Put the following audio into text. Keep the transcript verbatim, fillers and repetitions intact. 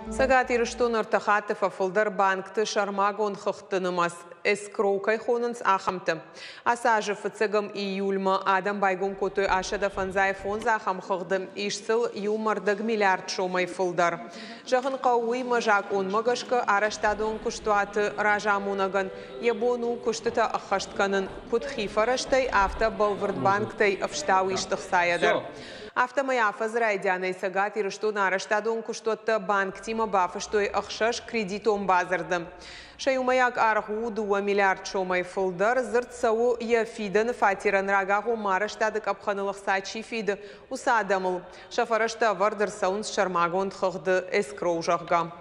Цӕгат Ирыстоны ӕртӕ хатты фӕфылдӕр банкты сӕрмагонд хыгъдты нымӕц, эскроу кӕй хонынц, ахӕмты. Ацы азы фыццӕгӕм июльмӕ адӕм байгом кодтой ассӕдӕ фӕндзай фондз ахӕм хыгъды, ис сыл иу ӕмӕ ӕрдӕг миллиард сомӕй фылдӕр. Зӕгъын хъӕуы уый, ӕмӕ закъонмӕ гӕсгӕ арӕзтадон куыстуаты разамонӕгӕн йӕ бон у куыстытӕ ӕххӕст кӕнын куыд хи фӕрӕзтӕй, афтӕ бӕлвырд банктӕй ӕфстау ист ӕхцайӕ дӕр. Афтӕмӕй афӕдзы райдианӕй Цӕгат Ирыстоны арӕзтадон куыстуӕттӕ банктимӕ бафыстой ӕхсӕз кредитон бадзырды. Сӕ иумӕйаг аргъ у дыууӕ миллиард сомӕй фылдӕр. Дзырд цӕуы, йӕ фидӕны фатерӕн рагагъоммӕ арӕзтады къӕпхӕныл ӕхца чи фиды, уыцы адӕмыл. Сӕ фӕрӕзтӕ ӕвӕрд ӕрцӕуынц сӕрмагонд хыгъды, эскроу, зӕгъгӕ.